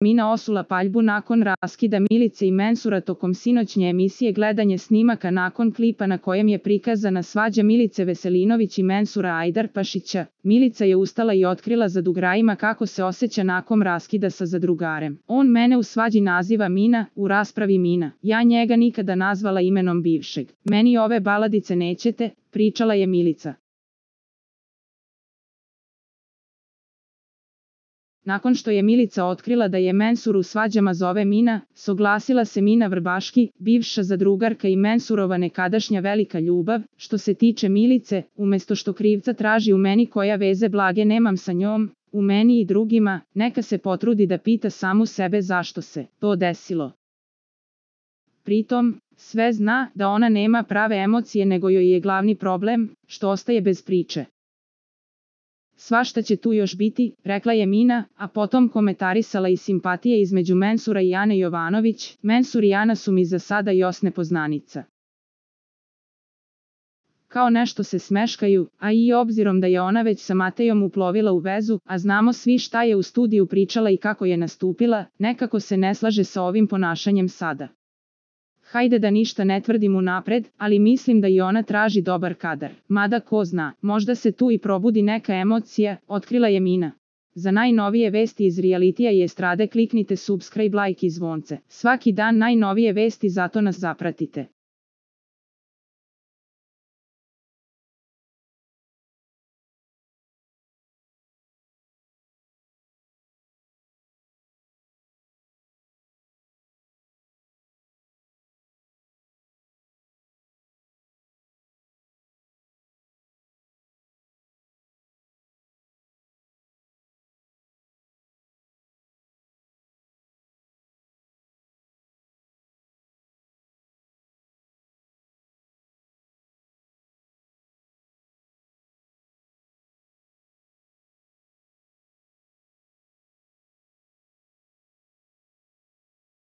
Mina osula paljbu nakon raskida Milice i Mensura tokom sinoćnje emisije gledanje snimaka nakon klipa na kojem je prikazana svađa Milice Veselinović i Mensura Ajdarpašića. Milica je ustala i otkrila zadrugarima kako se osjeća nakon raskida sa zadrugarem. On mene u svađi naziva Mina, u raspravi Mina. Ja njega nikada nazvala imenom bivšeg. Meni ove baladice nećete, pričala je Milica. Nakon što je Milica otkrila da je Mensur u svađama zove Mina, soglasila se Mina Vrbaški, bivša zadrugarka i Mensurova nekadašnja velika ljubav. Što se tiče Milice, umjesto što krivca traži u meni koja veze blage nemam sa njom, u meni i drugima, neka se potrudi da pita samu sebe zašto se to desilo. Pritom, sve zna da ona nema prave emocije nego joj je glavni problem, što ostaje bez priče. Svašta će tu još biti, rekla je Mina, a potom komentarisala i simpatije između Mensura i Ane Jovanović. Mensur i Ana su mi za sada još nepoznanica. Kao nešto se smeškaju, a i obzirom da je ona već sa Matejom uplovila u vezu, a znamo svi šta je u studiju pričala i kako je nastupila, nekako se ne slaže sa ovim ponašanjem sada. Hajde da ništa ne tvrdim unapred, ali mislim da i ona traži dobar kadar. Mada ko zna, možda se tu i probudi neka emocija, otkrila je Mina. Za najnovije vesti iz realitija i estrade kliknite subscribe, like i zvonce. Svaki dan najnovije vesti, zato nas zapratite.